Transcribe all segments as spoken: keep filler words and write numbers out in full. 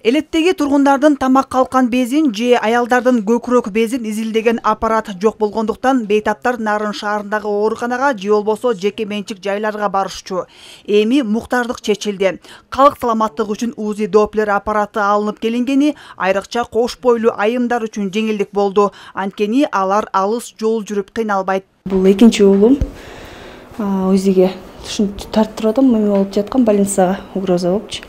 Элеттеги тургундардын тамак калкан безин же аялдардын көкүрөк безин изилдеген аппарат жок болгондуктан бейтаптар Нарын шаарындагы ооруканага же болбосо жеке менчик жайларга барышчу. Эми муктардык чечилди. Калк саламаттыгы үчүн УЗИ Доплер аппараты алынып келингени айрыкча кош бойлуу айымдар үчүн жеңилдик болду. Анткени алар алыс жол жүрүп кыйналбайт. Бул экинчи уулум УЗИге ушинтип тартып турдум, эме болуп жаткан больницага угроза болупчу.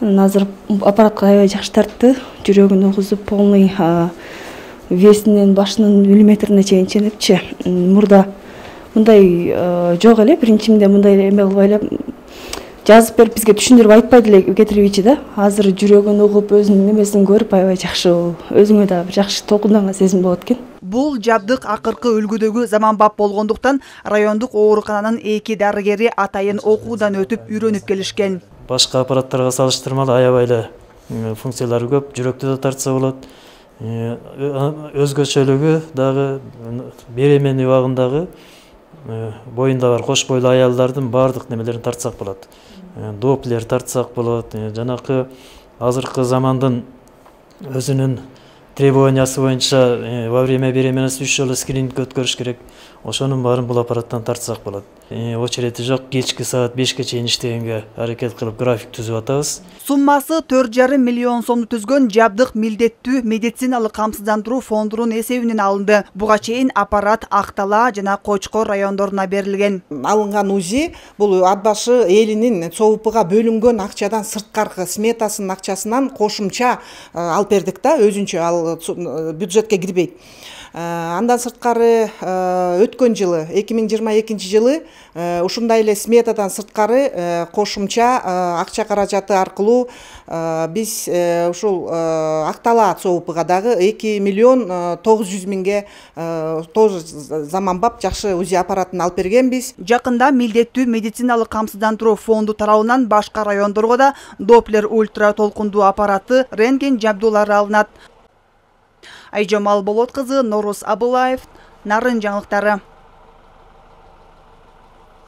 Азыр аппаратка аябай жакшы тартты. Жүрөгүн угузуп, полный весинен башынын миллиметрине чейин ченепчи. Мурда мындай жок эле, биринчимде мындай эме кылбай эле жазып берип бизге түшүндүрүп айтпайт эле кетирүүчү да. Азыр жүрөгүн угуп, өзүнүн немесин көрүп аябай жакшы, өзүңө да бир жакшы толкунданган сезим болот экен. Бул жабдык акыркы үлгүдөгү заманбап болгондуктан райондук оорукананын эки дарыгери атайын окуудан өтүп үйрөнүп келишкен. Башка аппараттарга салыштырмалуу аябай эле функциялары көп, жүрөктү да тартса болот. Өзгөчөлүгү дагы беременный убагындагы боюнда бар кош бойлуу аялдардын баардык немелерин тартсак болот. Доплер тартсак болот. Жанакы азыркы замандын өзүнүн требованиясы боюнча во время беременности үч жолу скрининг өткөрүш керек. Ошонун баарын бул аппараттан тартсак болот. Очерети жок, кечки саат бешке чейин иштегенге аракет кылып график түзүп атабыз. Суммасы төрт жарым миллион сомду түзгөн жабдык милдеттүү медициналык камсыздандыруу фондунун эсебинен алынды. Буга чейин аппарат Ак Талаа жана Кочкор райондоруна берилген. Алынган УЗИ бул ат башы элинин ЦОУПга бөлүнгөн акчадан сырткаркы сметасынын акчасынан кошумча алып бердик да, өзүнчө ал бюджетке кирбейт. Андан сырткары өткөн жылы эки миң жыйырма экинчи жылы ушундай эле сметадан сырткары кошумча акча каражаты аркылуу биз ушул Ак Талаа ЦОУПга дагы эки миллион тогуз жүз миңге тоже заманбап жакшы УЗИ аппаратын алып бергенбиз. Жакында милдеттүү медициналык камсыздандыруу фонду тарабынан башка райондорго да Доплер ультра толкундуу аппараты, рентген жабдуулары алынат. Айжомал Болот кызы, Норус Абылаев, Нарын жаңылыктары.